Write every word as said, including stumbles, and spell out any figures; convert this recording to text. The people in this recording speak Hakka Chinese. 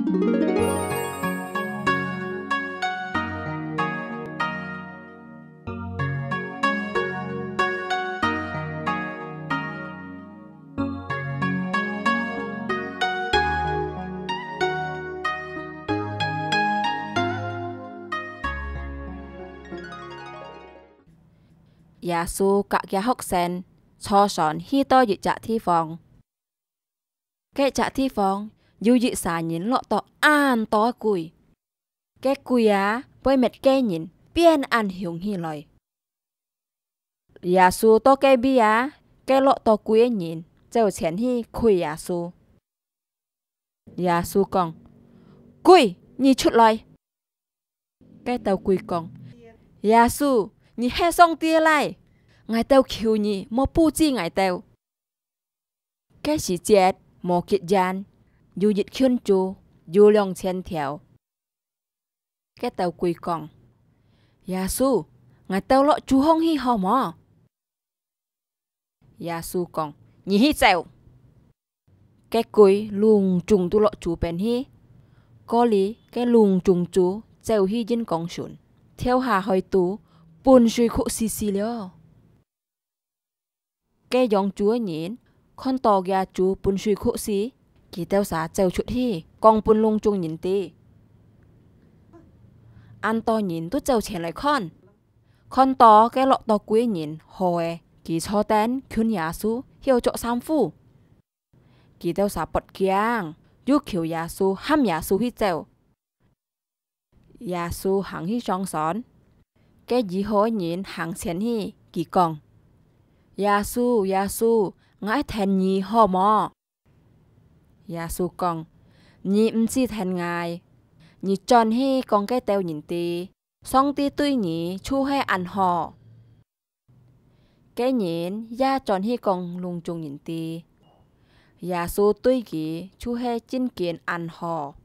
耶穌佮厥學生坐船去到一隻地方。該隻地方有一儕人落到恁多鬼，該鬼啊，會搣該人變恁凶起來。耶穌到該位啊，該落到鬼个人走前去跪耶穌。耶穌講：「鬼，你出來！」該兜鬼講：「耶穌，你係上帝个倈，𠊎兜求你，莫報紙𠊎兜。」該時節無幾遠，有一群豬，有兩千條。該兜鬼講：「耶穌，𠊎兜落豬項去好無？」耶穌講：「你去走！」該鬼攏總都落豬邊去，過哩該攏總豬走去印光船，跳下海肚，分水窟死死了。 該養豬个人看到厥豬分水窟死，佢兜儕走出去，講分攏總人知。恁多人都走前來看，看到該落到鬼个人好个，佢坐等近耶穌，曉著捎褲。佢兜儕發驚，又求耶穌，喊耶穌去走。 耶穌行去上船，該醫好个人行前去，佢講：「耶穌，耶穌，𠊎愛跈你好無？」耶穌講：「你毋使跈𠊎，你轉去講該兜人知，上帝對你就係恁好。」 該人也轉去講攏總人知，耶穌對佢就係真經恁好。